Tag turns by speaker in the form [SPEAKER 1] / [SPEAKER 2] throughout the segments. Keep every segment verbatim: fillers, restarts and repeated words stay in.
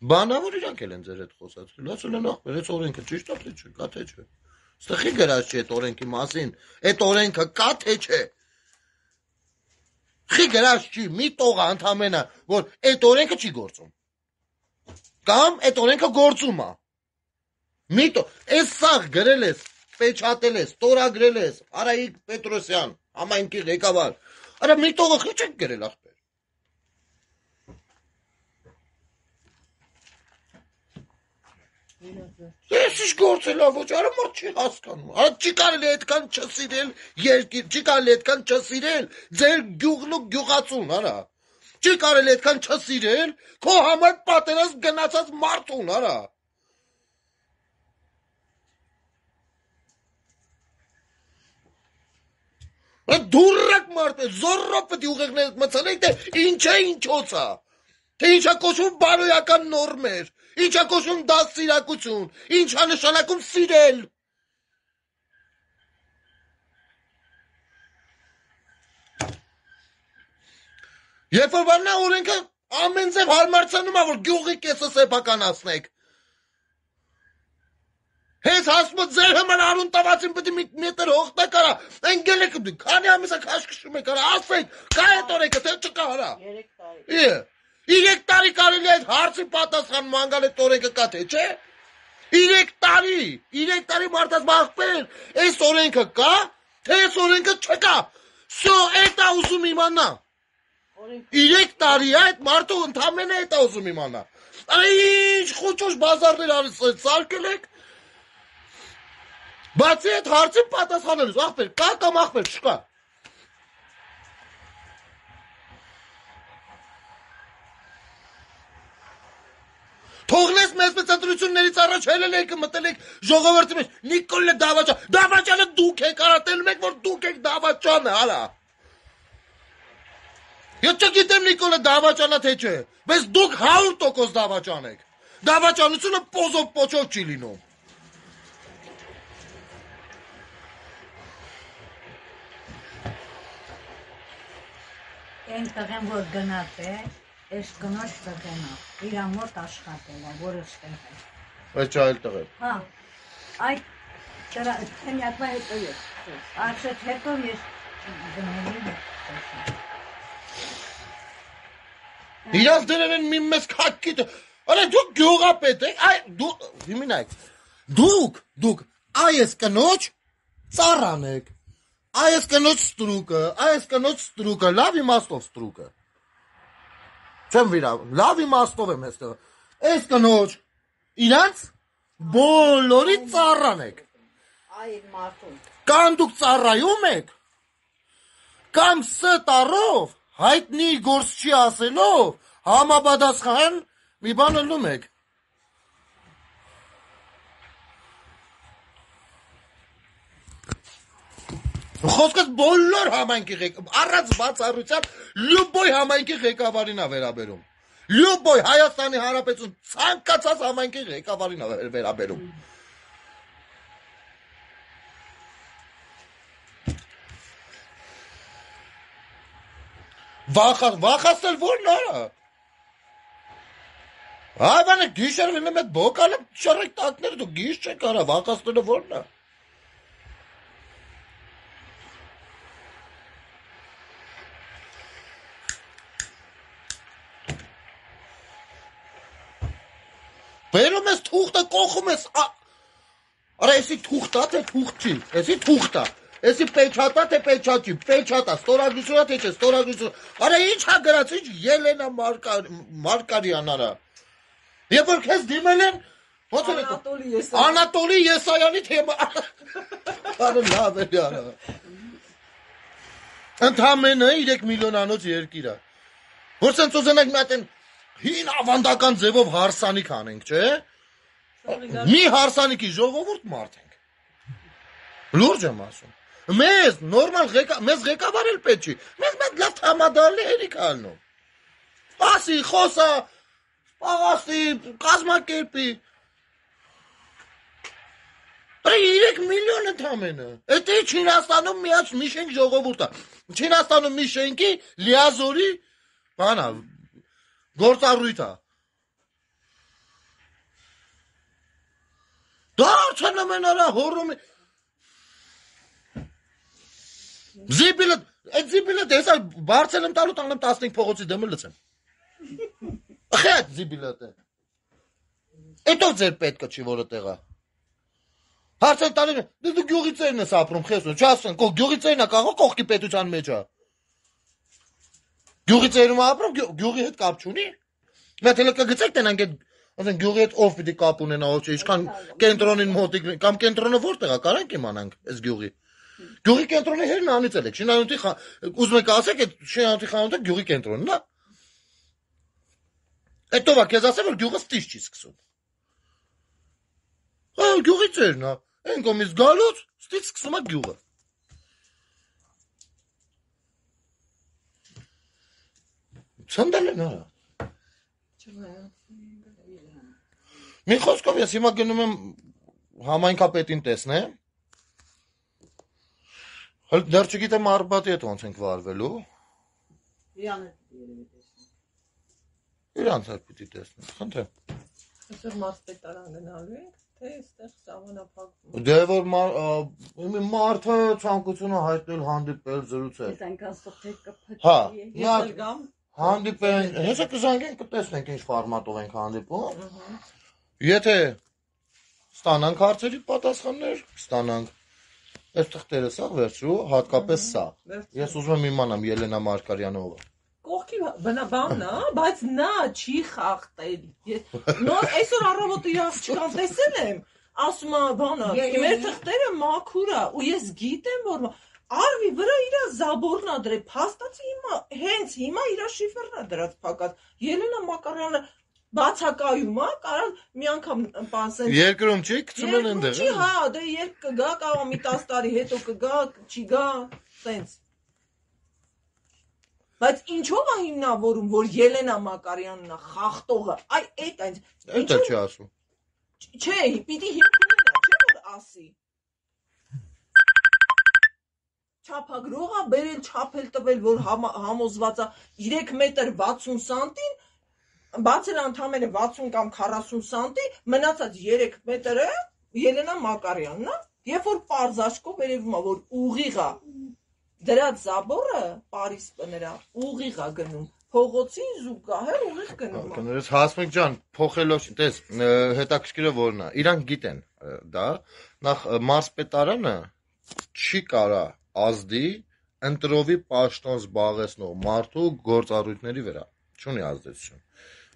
[SPEAKER 1] Բանավոր իրանք էլ են ձեր հետ խոսացել, ասել են ախպեր, այս օրենքը ճիշտ է թե չէ, կա թե չէ։ Ստխի գրած չի այդ օրենքի մասին, այդ օրենքը կա թե չէ։ Խի գրած չի, մի տողա ընդամենը, որ այդ օրենքը չի գործում։ Կամ այդ օրենքը գործում է։ Մի տող, այս սաղ գրել ես, պեչատել ես, ստորագրել ես, Արայիկ Պետրոսյան, համայնքի ղեկավար։ Արա մի տողը խի չեք գրել ախպեր։ Ես ինչ գործել ա ոչ, արա մարդ չի հասկանում, արա չի կարելի այդքան չսիրել երկիր, չի կարելի այդքան չսիրել ձեր գյուղն ու գյուղացուն, արա, չի կարելի այդքան չսիրել քո համար պատերազմ գնացած մարդուն, արա, դուրակ մարդ է, զորրով պետք է ուղեղներդ մցանեք, թե ինչ է ինչոց ա, թե ինչ է կոչվում բարոյական նորմեր, ինչ է կոչվում դաստիարակություն, ինչ է նշանակում սիրել։ Երբ որ բանա օրենքը ամեն ձև հարմարցանում է, որ գյուղի կեսը սեփականացնեք։ Հենց հասմը ձեր համար արուն տվացին պետք է մի մետր հողտա կարա, ընգել եք դու, քանի ամիս է քաշքշում եք արա, ասեք, կա այդ օրենքը, թե չկա արա։ Երեք տարի կարելի է այդ հարցի պատասխան մանգալ այդ օրենքը կա թե չէ։ Երեք տարի, երեք տարի մարդաց բախպեր, այս օրենքը կա, թե այս օրենքը չկա։ Սո այդ է ուզում իմանա։ Երեք տարի այդ մարդու ընդամենը այդ է ուզում իմանա։ Ինչ խոճոշ բազարներ սարքել եք։ Բացի այդ հարցին պատասխանելուց, ախպեր, կա կամ ախպեր չկա։ Թողնես մեզ մեծ ընտրություններից առաջ հելել եք մտել եք ժողովրդի մեջ, Նիկոլը Դավաճան, Դավաճանը դուք եք արա, տելում եք, որ դուք եք Դավաճանը, արա։ Ես չգիտեմ Նիկոլը Դավաճանա թե չէ, բայց դուք հարյուր տոկոս Դավաճան եք։ Դավաճանությունը պոզով պոչով չի լինում։
[SPEAKER 2] Այն տղեն, որ գնաց է, այս կնոջ տղենա, իրա մոտ աշխատել է, որը ստեղ է։
[SPEAKER 1] Այս չայլ տղեն։
[SPEAKER 2] Հա, այդ թենյակվա հետո ես, արցետ հետո ես գնելի հետ։
[SPEAKER 1] Իրաց դրել են մի մեզ կակիտ, արա դուք գյուղապետ եք, այ դուք, հիմինայք, դուք, դուք, այս կնոջ ծառան եք, այս կնոջ ստրուկը, այս կնոջ ստրուկը, լավ իմաստով ստրուկը, չեմ վիրավ, լավ իմաստով եմ եստեղ, այս կնոջ, իրանց բոլորի ծառան եք, կամ դուք ծառայում եք, կամ ստարով, հայտնի գործ չի ասելով, համապատասխան մի բան ըլնում եք։ Խոսքս բոլոր համայնքի ղեկավարին, առանց բացառության, լյուբոյ համայնքի ղեկավարին է վերաբերում։ Լյուբոյ Հայաստանի Հանրապետություն ցանկացած համայնքի ղեկավարին է վերաբերում։ Վախած, վախացնել որն արա։ Հայվանը գիշեր վինում էդ բոկալը շարեք տակները դու գիշ չեք արա, վախացնելը որն է։ Բերում ես թուղթը կողում ես, արա եսի թուղթա թե թուղթ չի, եսի թուղթա, եսի պեչատա թե պեչատ չի, պեչատա, ստորագրությունա թե չէ, ստորագրություն, արա ինչ հա գրած, ինչ Ելենա Մարկարյան արա, երբ որ քեզ դիմել են, Անատոլի Եսայանի թեմա, արա լավ է արա, ընդամենը երեք միլիոնանոց երկիր է, որ սենց ուզենակ մի հատ են հին ավանդական ձևով հարսանիք անենք, չէ, մի հարսանիքի ժողովուրդ մարդ ենք, լուրջ եմ ասում, մեզ, նորմալ, մեզ ղեկավար էլ պետք չի, մեզ մեզ լավ թամադալի հերիք ալնում, ասի, խոսա, պաղասի, կազմակերպի, երեք միլիոն ընդամենը, էդ է Չինաստանում միած մի շենք ժողովուրդ է, Չինաստանում մի շենքի լիազորի, բանա, գործառույթ է, հոռում են արա, հոռում են։ Զիբիլը, այդ զիբիլը դեսա բարձել եմ տալու տանեմ տասնհինգ փողոցի դեմը լցեմ։ Ախե այդ զիբիլը դե։ Էտո ձեր պետքը չի որը տեղա։ Հարցեն տալին, դու գյուղի ծերն ես ապրում, խեսուն, չասեն, կող գյուղի ծերն է կարող կողքի պետության մեջ է։ Գյուղի ծերում ապրում, գյուղի հետ կապ չունի։ Մենք հենց կգցեք տենանք այդ, ասեն գյուղի հետ ով պիտի կապ ունենա, ոչ ինչքան կենտրոնին մոտիկ, կամ կենտրոնը որտեղ է, կարանք իմանանք այս գյուղի։ Գյուղի կենտրոնի հերն անիծել եք, շինանյութի ուզում եք ասեք այդ շինանյութի խանութը գյուղի կենտրոնն է։ Էտո վա քեզ ասեմ որ գյուղը ստիճ չի սկսում։ Հա գյուղի ծերն է, այն կողմից գալուց ստիճ սկսում է գյուղը։ Ցնդել են արա։ Մի խոսքով ես հիմա գնում եմ համայնքապետին տեսնեմ։ Հəl դեռ չգիտեմ Արբատի հետ ոնց ենք վարվելու։
[SPEAKER 2] Իրան հետ տեսնեմ։
[SPEAKER 1] Իրանց հետ պիտի տեսնեմ, խնդրեմ։
[SPEAKER 3] Այսօր մարզպետարան գնալու ենք, թե այստեղ սահմանափակվում։
[SPEAKER 1] Դե որ մարդը ցանկությունը հայտնել հանդիպել զրուցել։
[SPEAKER 2] Ես այնքան սոթեք կփչի։
[SPEAKER 1] Հա,
[SPEAKER 3] Ես էլ գամ։
[SPEAKER 1] հանդիպեն, հեսա կզանգեն կտեսնենք ինչ ֆորմատով ենք հանդիպում։ Եթե ստանանք հարցերի պատասխաններ, ստանանք։ Այս թղթերը սա վերցրու, հատկապես սա։ Ես ուզում եմ իմանամ Ելենա Մարգարյանը ով է։
[SPEAKER 3] Կողքի բնաբանն է, բայց նա չի խախտել։ Նոր այսօր առավոտը իր աղջկան տեսել եմ, ասում է բանը, մեր թղթերը մաքուր է, ու ես գիտեմ որ արվի վրա իր զաբորն է դրել, փաստացի հիմա հենց հիմա իր շիֆերն է դրած փակած։ Ելենա Մարգարյանը բացակայում է, կարան մի անգամ պասեն։
[SPEAKER 1] Երկրում չի, գցում են այնտեղ։
[SPEAKER 3] Չի, հա, դե երբ կգա, կարող մի տասը տարի հետո կգա, չի գա, տենց։ Բայց ինչով է հիմնավորում, որ Ելենա Մարգարյանն է խախտողը։ Այ այդ այն։
[SPEAKER 1] Դա չի ասում։
[SPEAKER 3] Չէ, պիտի հիմք ունենա, չէ՞ որ ասի։ Չափագրողը բերել, չափել տվել, որ համոզված է երեք մետր վաթսուն սանտին բացել անդամերը վաթսուն կամ քառասուն սանտի, մնացած երեք մետրը Ելենա Մարգարյանն է, երբ որ պարզաշկով երևում է, որ ուղիղ է դրած զաբորը Պարիս նրա ուղիղ է գնում, փողոցին զուգահեռ ուղիղ գնում է։
[SPEAKER 1] Կներես Հասմիկ ջան, փոխելով, տես, հետաքրքիրը որն է, իրանք գիտեն դա, նախ մարզպետարանը չի կարա ազդի ընտրովի պաշտոն զբաղեցնող մարդու գործառույթների վրա, չունի ազդեցություն։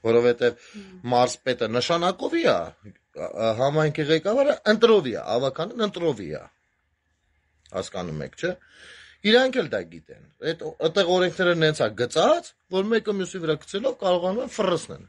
[SPEAKER 1] Որովհետև մարզպետը նշանակովի է, համայնքի ղեկավարը ընտրովի է, ավականն ընտրովի է, հասկանում եք, չէ, իրանք էլ դա գիտեն, այդտեղ օրենքները նենց է գծած, որ մեկը մյուսի վրա գցելով կարողանում են ֆռսնեն,